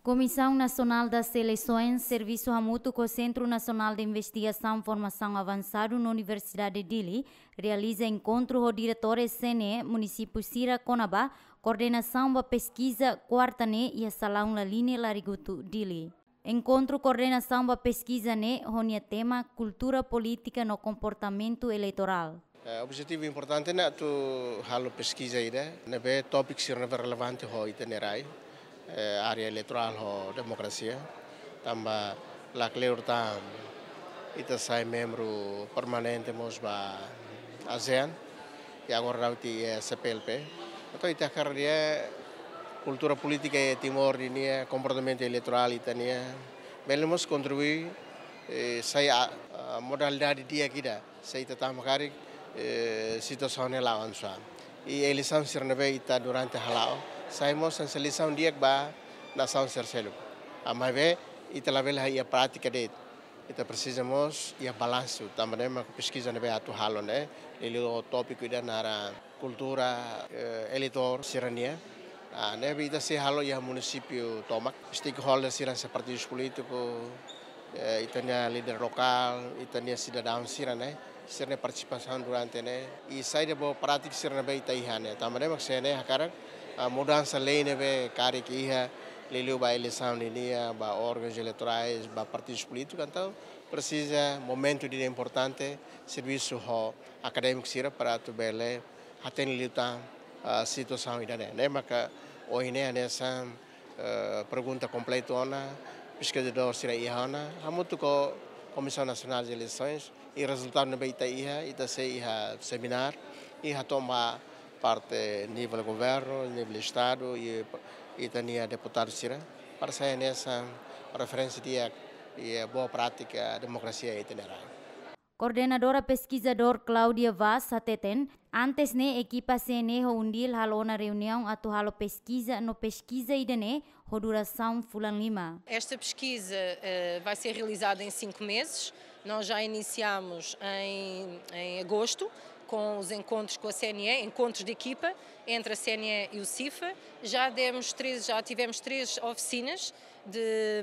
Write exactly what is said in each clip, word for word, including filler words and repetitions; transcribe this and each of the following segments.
Comissão Nacional das Eleições, servisu hamutuk ho Centro Nacional de Investigação Formação Avançado no Universidade Dili, realiza enkontru ho diretór C N E munisípiu sira kona-ba koordenasaun ba peskiza, kuarta ne'e iha Salaun Laline, Larigutu, Dili. Enkontru koordenasaun ba peskiza ne'e ho nia tema Kultura Polítika no Komportamentu Eleitorál. Eh, objetivu importante ne'e atu halo peskiza ida ne'ebé tópiku sira ne'ebé relevante ho ita-nia rai, eh, área eleitorál ho demokrasia. Tanba lakleur tan ita sai membru permanente mós ba ASEAN, i agora daudaun iha C P L P. Entaun ita hakarak dehan kultura polítika iha Timor nian, komportamentu eleitorál ita-nian, bele mós kontribui, eh, sai a, a modalidade di'ak ida, se ita tama karik, eh, situasaun ne'e la'o avansa. I eleisaun sira ne'ebé ita durante hala'o, sai mós hanesan lisaun di'ak ba nasaun sira seluk. Ah, maibé ita labele iha prátika de'it. Ita presiza mós iha balansu, tanba ne'e mak peskiza ne'ebé atu halo ne'e, liuliu tópiku ida naran kultura, eh, eleitór sira-nian. Ah, ne'ebé ita sei halo iha munisípiu tomak, stakeholder sira hanesan partidus polítiku, eh, ita-nia líder lokál, ita-nia sidadaun sira ne'e, sira-nia partisipasaun durante ne'e, i saida boa prátika sira ne'ebé ita iha ne'e. Tanba ne'e mak C N E hakarak, ah, mudansa lei ne'ebé karik iha, liuliu ba eleisaun nian, ba órgauns eleitorais, ba partidus polítiku, entaun presiza momentu ida importante, servisu ho akadémiku sira para atu bele hatene liután, ah, situasaun ida-ne'e. Ne'e maka ohin ne'e hanesan, eh, pergunta kompletu ona, peskizadór sira iha ona, hamutuk ho Comissão Nacional de Eleições, i rezultadu ne'ebé ita iha, ita sei iha semináriu, i hato'o ba parte nivel governu, nivel estadu, i ita-nia deputadu sira, para sai hanesan referénsia di'ak, i boa prátika demokrasia ita-nia rai. Koordenadora peskizadór Claudia Vaz hateten, antes ne'e ekipa C N E ho UNDIL halo ona reuniaun atu halo peskiza no peskiza ida-ne'e ho durasaun fulan lima. Esta pesquisa, eh, vai ser realizada em cinco meses. Nós já iniciamos em, em agosto com os encontros com a C N E, encontros de equipa entre a C N E e o CIFA. Já demos três, já tivemos três oficinas de,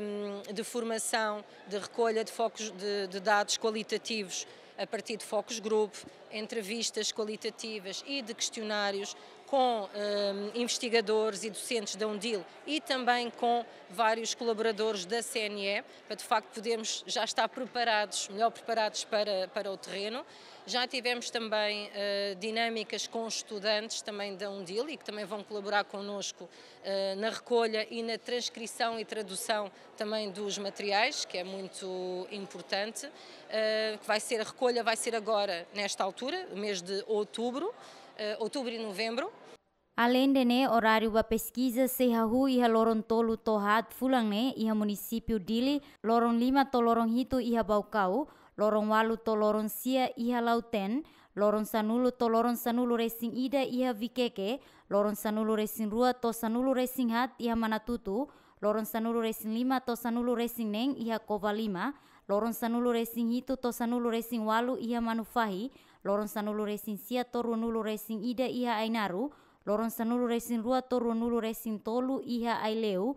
de formação, de recolha de focos, de, de dados qualitativos a partir de focus group, entrevistas qualitativas e de questionários com, ehm, investigadores e docentes da UNDIL e também com vários colaboradores da C N E, para de facto podermos já estar preparados, melhor preparados para, para o terreno. Já tivemos também, eh, dinâmicas com estudantes também da UNDIL e que também vão colaborar connosco, eh, na recolha e na transcrição e tradução também dos materiais, que é muito importante, eh, que vai ser, a recolha vai ser agora, nesta altura, mês de outubro, eh, outubro e novembro. Alende ne'e, oráriu ba peskiza sei hahú iha loron tolu to'o haat fulan ne'e iha munisípiu Dili, loron lima to'o loron hitu iha Baucau, loron ualu to'o loron sia iha Lautém, loron sanulu to'o loron sanulu-resin-ida iha Viqueque, loron sanulu-resin-rua to'o sanulu-resin-haat iha Manatuto, loron sanulu-resin-lima to'o sanulu-resin-neen iha Covalima, loron sanulu-resin-hitu to'o sanulu-resin-ualu iha Manufahi, loron sanulu-resin-sia to'o ruanulu-resin-ida iha Ainaro, loron sanulu-resin-rua to'o ruanulu-resin-tolu iha Aileu,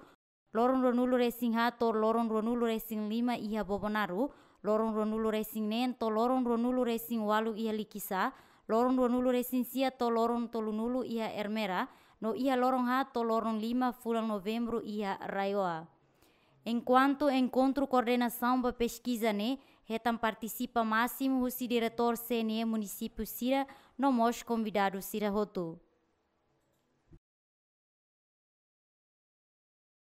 loron ruanulu-resin-haat to'o loron ruanulu-resin-lima iha Bobonaro, loron ruanulu-resin-neen to'o loron ruanulu-resin-ualu iha Likisá, loron ruanulu-resin-sia to'o loron tolunulu iha Ermera, no iha loron haat to'o loron lima fulan Novembru iha RAEOA. Enkuantu enkontru koordenasaun ba peskiza ne'e hetan partisipa másimu husi diretór C N E munisípiu sira no mós konvidadu sira hotu.